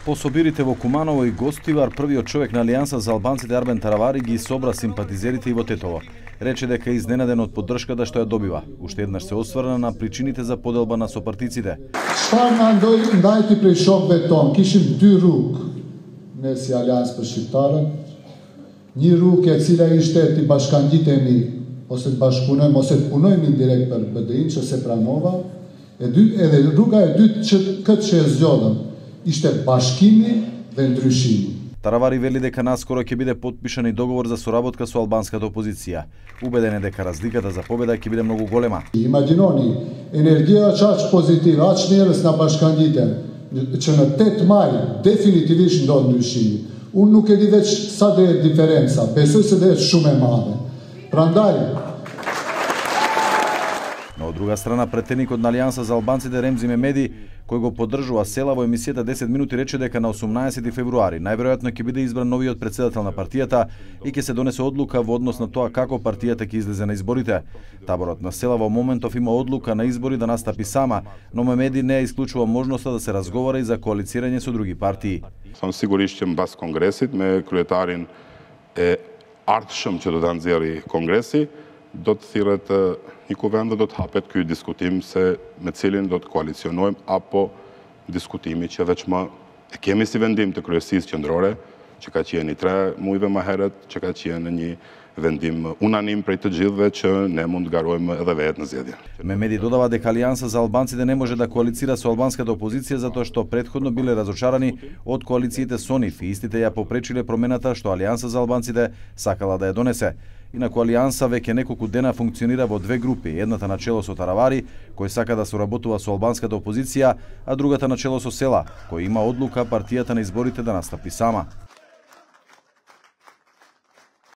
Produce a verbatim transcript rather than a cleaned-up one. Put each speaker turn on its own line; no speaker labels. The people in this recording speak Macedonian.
По собирите во Куманово и Гостивар, првиот човек на Алијанса за албанците Арбен Таравари ги собра симпатизерите и во Тетово. Рече дека е изненаден од поддршката што ја добива. Уште еднаш се осврна на причините за поделба на сопартиците.
Çfarë na ndoi ndajti prej shokëve ton? Kishim dy rrugë ne si Aleancë për Shqiptarët. Një rrugë e cila ishte të bashkangjitemi ose të bashkëpunojmë ose të punojmë direkt për B D I-n që se pranova. E dy, edhe rruga e dytë që këtë që e zgjodhëm ishte bashkimi dhe ndryshimi.
Таравари вели дека наскоро ќе биде потпишан и договор за соработка со албанската опозиција. Убеден е дека разликата за победа ќе биде многу голема.
Imagjinoni, energjia aq pozitive, aq njerëz na bashkangjiten, që në tetë maj definitivisht ndodh ndryshimi. Unë nuk e di veç sa do jetë diferenca, besoj se do jetë shumë e madhe. Prandaj,
но од друга страна претеникот на Алијанса за албанците Ремзи Мемеди, кој го поддржува Села во емисијата десет минути, рече дека на осумнаесети февруари најверојатно ќе биде избран новиот претседател на партијата и ќе се донесе одлука во однос на тоа како партијата ќе излезе на изборите. Таборот на Села во моментов има одлука на избори да настапи сама, но Мемеди не исклучува можноста да се разговара и за коалицирање со други партии.
Сам сигурисht që mbas kongresit me kryetarin e ardhshëm që do ta nxjerrë kongreси, do të thirret një kuvend dhe do të hapet ky diskutim se me cilin do të koalicionojmë apo diskutimi që veç më e kemi si vendim të kryesisë qendrore, që ka qenë i tre muajve më herët, që ka qenë një vendim unanim prej të gjithëve që ne mund të garojmë edhe vetë në zgjedhje.
Мемеди додава дека Алијанса за албанците не може да коалицира со албанската опозиција затоа што претходно биле разочарани од коалициите со нив и истите ја попречиле промената што Алијанса за албанците сакала да ја донесе. Инаку Алијанса веќе неколку дена функционира во две групи, едната на чело со Таравари, кој сака да соработува со албанската опозиција, а другата на чело со Села, кој има одлука партијата на изборите да настапи сама.